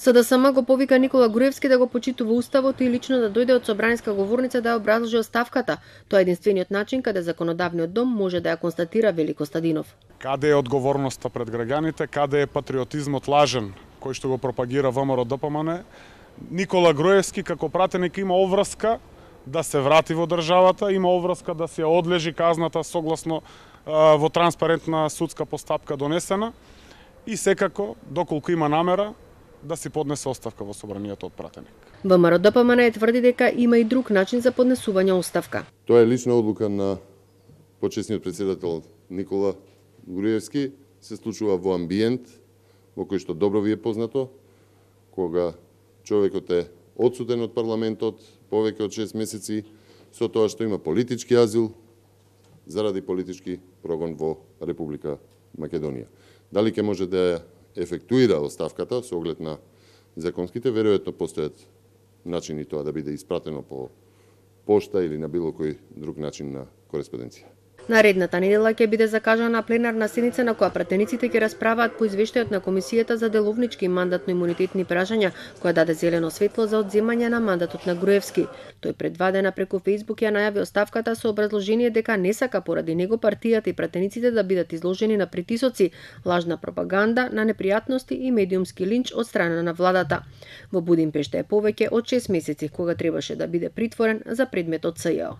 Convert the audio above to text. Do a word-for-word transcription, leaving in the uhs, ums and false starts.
СДСМ го повика Никола Груевски да го почитува уставот и лично да дојде од собранска говорница да ја образложи оставката. Тоа е единствениот начин каде законодавниот дом може да ја констатира, вели Костадинов. Каде е одговорноста пред граѓаните, каде е патриотизмот лажен кој што го пропагира ВМРО-ДПМН? Никола Груевски како пратеник има обврска да се врати во државата, има обврска да се одлежи казната согласно а, во транспарентна судска постапка донесена и секако, доколку има намера, да си поднесе оставка во собранието од пратеник. ВМРО-ДПМН е тврди дека има и друг начин за поднесување оставка. Тоа е лична одлука на почесниот претседател Никола Груевски, се случува во амбиент во кој што добро ви е познато, кога човекот е одсутен од парламентот повеќе од шест месеци со тоа што има политички азил заради политички прогон во Република Македонија. Дали ќе може да ја ефектуира оставката со оглед на законските, веројатно постојат начини тоа да биде испратено по пошта или на било кој друг начин на кореспонденција. Наредната недела ќе биде закажана пленарна седница на која пратениците ќе расправаат по извештајот на Комисијата за деловнички и мандатно-имунитетни прашања, која даде зелено светло за одземање на мандатот на Груевски. Тој пред два дена преку Фејсбук ја најави оставката со образложение дека не сака поради него партијата и пратениците да бидат изложени на притисоци, лажна пропаганда, на непријатности и медиумски линч од страна на владата. Во Будимпешта е повеќе од шест месеци кога требаше да биде притворен за предметот СЈО.